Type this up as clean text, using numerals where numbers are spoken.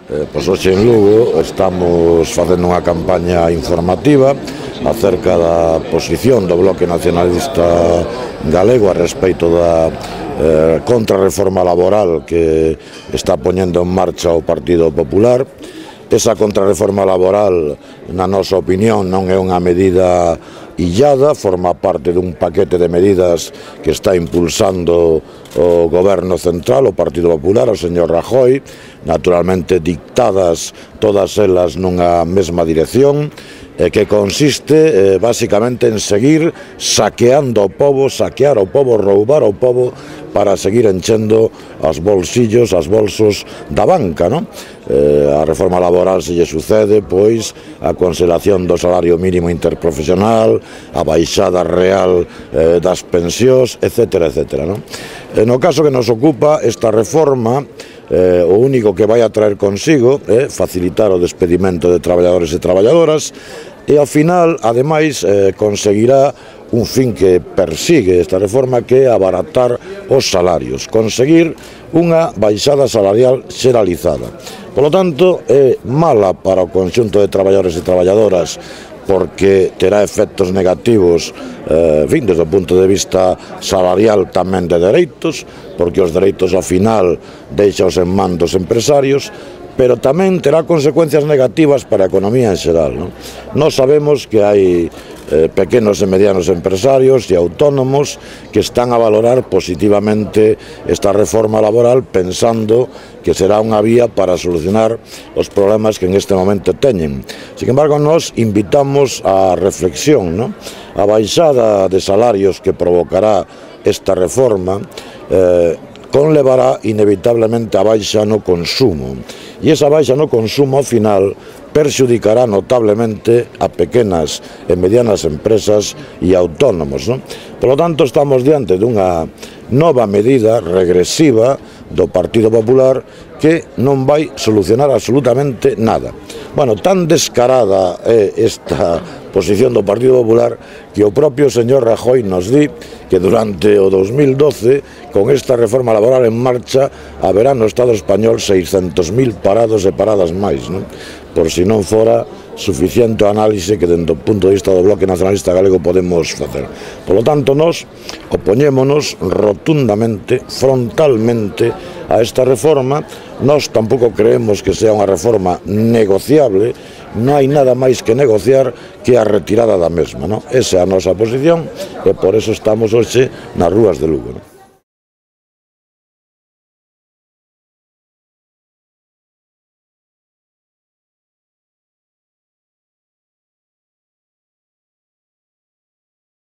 Pois hoxe en Lugo estamos facendo unha campaña informativa acerca da posición do Bloque Nacionalista Galego a respecto da contrarreforma laboral que está poñendo en marcha o Partido Popular. Esa contrarreforma laboral, na nosa opinión, non é unha medida illada, forma parte dun paquete de medidas que está impulsando o Goberno Central, o Partido Popular, o señor Rajoy, naturalmente dictadas todas elas nunha mesma dirección, que consiste basicamente en seguir saqueando o pobo, saquear o pobo, roubar o pobo para seguir enchendo os bolsillos, os bolsos da banca, non? A reforma laboral se lle sucede, pois, a conxelación do salario mínimo interprofesional, a baixada real das pensións, etc., etc., non? No caso que nos ocupa, esta reforma, o único que vai a traer consigo é facilitar o despedimento de traballadores e traballadoras e ao final, ademais, conseguirá un fin que persigue esta reforma, que é abaratar os salarios, conseguir unha baixada salarial xeralizada. Por lo tanto, é mala para o conxunto de traballadores e traballadoras porque terá efectos negativos desde o punto de vista salarial, tamén de dereitos, porque os dereitos ao final deixaos en man dos empresarios, pero tamén terá consecuencias negativas para a economía en xeral, non? Nós sabemos que hai pequenos e medianos empresarios e autónomos que están a valorar positivamente esta reforma laboral pensando que será unha vía para solucionar os problemas que en este momento teñen. Sin embargo, nós invitamos á reflexión, non? A baixada de salarios que provocará esta reforma conlevará inevitablemente a baixa no consumo, e esa baixa no consumo ao final perxudicará notablemente a pequenas e medianas empresas e autónomos, non? Por lo tanto, estamos diante dunha nova medida regresiva do Partido Popular que non vai solucionar absolutamente nada. Bueno, tan descarada é esta posición do Partido Popular que o propio señor Rajoy nos di que durante o 2012, con esta reforma laboral en marcha, haberá no Estado español 600.000 parados e paradas máis, non? Por si non fora suficiente análise que dentro do punto de vista do Bloque Nacionalista Galego podemos facer. Por lo tanto, nós opoñémonos rotundamente, frontalmente a esta reforma. Nós tampouco creemos que sea unha reforma negociable, non hai nada máis que negociar que a retirada da mesma, non? Esa é a nosa posición e por eso estamos hoxe nas rúas de Lugo, non?